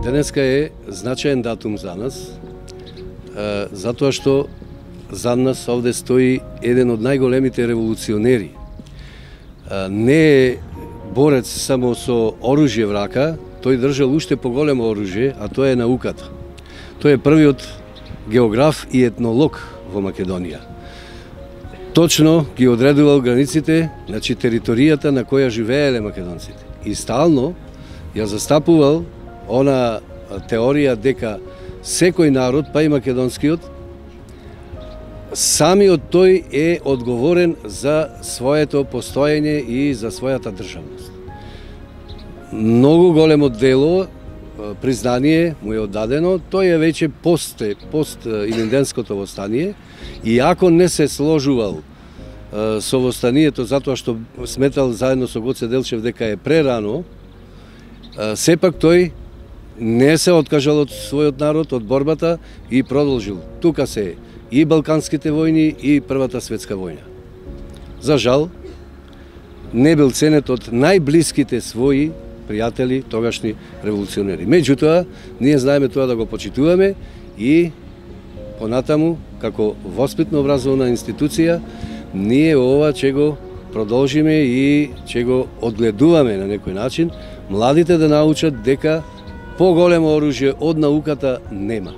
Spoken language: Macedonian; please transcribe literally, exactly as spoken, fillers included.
Денеска е значаен датум за нас, затоа што за нас овде стои еден од најголемите револуционери. Не е борец само со оружје в рака, тој држал уште поголемо оружје, а тоа е науката. Тој е првиот географ и етнолог во Македонија. Точно ги одредувал границите, значи територијата на која живееле македонците. И стално ја застапувал она теорија дека секој народ, па и македонскиот, самиот тој е одговорен за своето постоење и за својата државност. Многу големо дело, признание му е оддадено, тој е веќе пост, пост Илинденското востание, и ако не се сложувал со востанието затоа што сметал заедно со Гоце Делчев дека е прерано, сепак тој не се откажал од својот народ, од борбата и продолжил. Тука се и Балканските војни и Првата светска војна. За жал, не бил ценет од најблиските своји пријатели, тогашни револуционери. Меѓутоа, ние знаеме тоа да го почитуваме и понатаму, како воспитно-образовна институција, ние ова ќе го продолжиме и ќе го одгледуваме на некој начин, младите да научат дека поголемо оружје од науката нема.